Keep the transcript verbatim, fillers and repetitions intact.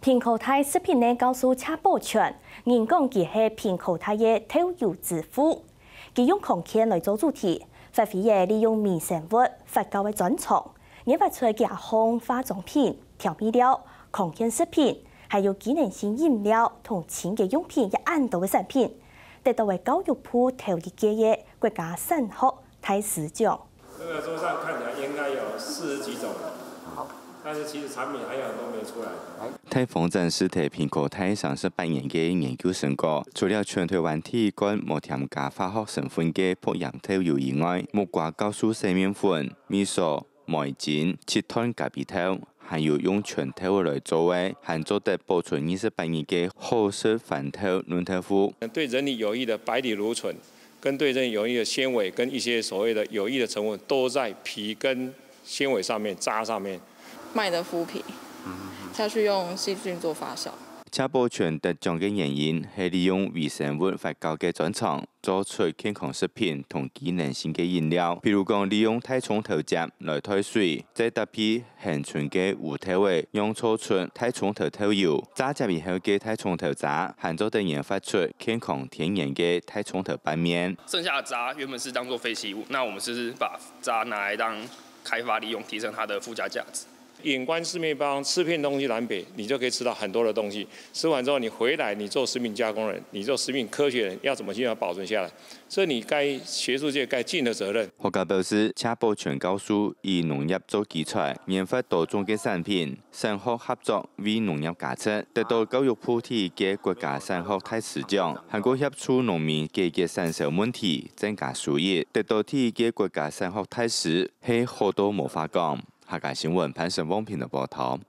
蘋果大食品个教授謝寶全，人講佢係蘋果大个豆油之父。佢用康健來做主題，發揮了利用微生物發酵个專長，研發出加工化妝品、調味料、康健食品，還有機能性飲料同清潔用品也恁多个產品，得到个教育部頭一屆个國家產學大師獎。 這個桌上看起來應該有四十幾種了，但是其實產品還有很多沒出來。大方展示蘋果大三十八年个研究成果，除了全台灣第一罐無添加化學成分个薄鹽豆油以外，木瓜酵素洗面粉、味素、梅精、七段咖啡豆，還有用全豆來做个，還做得保存二十八日个好食番豆嫩豆腐。對人體有益的白藜蘆醇，跟對人體有益的纖維，跟一些所謂的有益的成分，都在皮跟纖維上面、渣上面。麦的麸皮，下去用细菌做发酵。謝寶全得獎个原因係利用微生物發酵个專長，做出健康食品同機能性个飲料，比如講利用大蔥頭汁來代水，再搭配 現存个烏豆仔，釀造出大蔥頭豆油。榨汁以後个大蔥頭渣，還做得研發出健康天然个大蔥頭拌麵。剩下的渣原本是当做废弃物，那我们是不是把渣拿来当开发利用，提升它的附加价值？眼观四面八方，吃遍东西南北，你就可以吃到很多的东西。吃完之后，你回来，你做食品加工人，你做食品科学人，要怎么去把它保存下来？这是你该学术界该尽的责任。學界表示，謝寶全教授以農業做基材，研发多种个产品，產學合作为農业加值，得到教育部第一个国家產學大使獎，還過協助農民解決產銷問題，增加收益，得到第一个国家產學大使，係好到無話講。客家新聞潘成旺編輯报道。